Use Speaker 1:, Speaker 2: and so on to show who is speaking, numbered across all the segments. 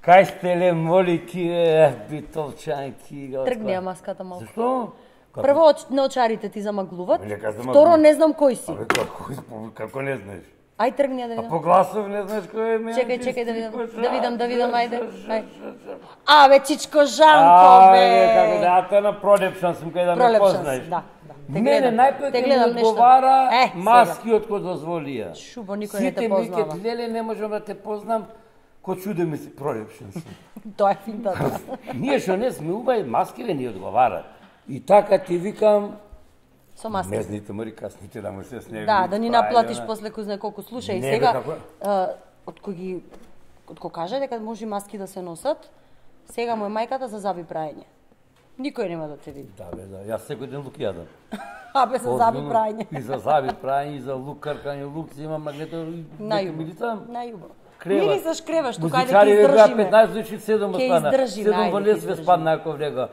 Speaker 1: Кај сте ле, моли ти, битолчанки.
Speaker 2: Тргни ја маската малку.
Speaker 1: Зашто?
Speaker 2: Прво, наочарите ти замаглуват.
Speaker 1: Нека замаглуват.
Speaker 2: Второ, не знам кој си.
Speaker 1: Абе, како не знаеш?
Speaker 2: Ај тргни ја да
Speaker 1: А
Speaker 2: видам.
Speaker 1: по гласов не знаеш кој е мене?
Speaker 2: Чекај да видам, ајде. Абе, Чичко Жанко, бе.
Speaker 1: Како да, та на пролепшан сум кај да ме познаеш.
Speaker 2: Да.
Speaker 1: Мене најпред ми одговара маски од кој дозволија.
Speaker 2: Шубо, никој не те познава.
Speaker 1: Сите ми леле, не можам да те познам, ко чуде ми си пролепшан сум.
Speaker 2: Тоа е финтата.
Speaker 1: Ние што не сме убави, маскиве ни одговарат. И така ти викам,
Speaker 2: Со маски.
Speaker 1: мезните мори касните да му се сневи.
Speaker 2: Да ни наплатиш после кој знае колку. Слушај, сега од кој каже дека може маски да се носат, сега му е мајката за заби праење. Никој нема да те види.
Speaker 1: Да, бе, да. Јас секој ден лук јадам.
Speaker 2: Абе, за заби праење.
Speaker 1: И за заби праење, и за лук каркање, лук си има магнетор и
Speaker 2: најубаво. Најубаво.
Speaker 1: Креват.
Speaker 2: Мирисаш креваш, тука ајде
Speaker 1: ќе
Speaker 2: издржиме.
Speaker 1: 15 души, 7 остана. 7 во лес ве спадна ако влега.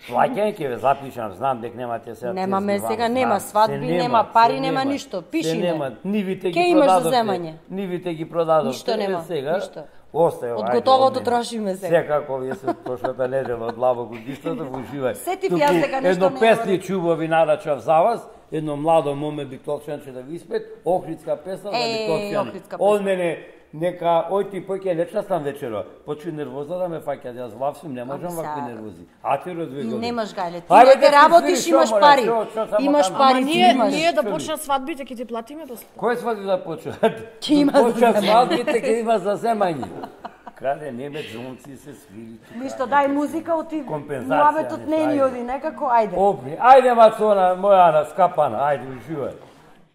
Speaker 1: Плаќање ќе ве запишам, знам дека немате сега.
Speaker 2: Немаме сега, нема свадби, нема пари, нема ништо. Пиши
Speaker 1: нема. Нивите ги
Speaker 2: продадовте. Ке имаш за
Speaker 1: земање. Нивите ги продадовте.
Speaker 2: Ништо нема,
Speaker 1: сега.
Speaker 2: ништо.
Speaker 1: Остаја.
Speaker 2: Од готовото трошиме сега.
Speaker 1: Секако вие се прошлата недела од лаво годишната во уживај.
Speaker 2: Сетив јас дека нешто
Speaker 1: едно песни чубави нарачав за вас. Едно младо моме битолчанче да ви испет, Охридска песна за битолчани. Од мене нека ој ти поќе лечна сам вечера. Почуј нервоза да ме фаќа, јас вавсум не можам вакви нервози. А ти розвеголи.
Speaker 2: Немаш гајле. Ти да работиш, имаш пари. Имаш пари,
Speaker 3: ние да почнат свадбите ќе ти платиме после.
Speaker 1: Кој свадби да почнат?
Speaker 2: Ќе има
Speaker 1: почнат свадбите, ќе има за земање. Каде неме джонци се свири.
Speaker 2: Ништо, дај музика, оти муабетот не ни оди некако, ајде.
Speaker 1: Ајде Мацона, моја Ана, скапана, ајде, уживај.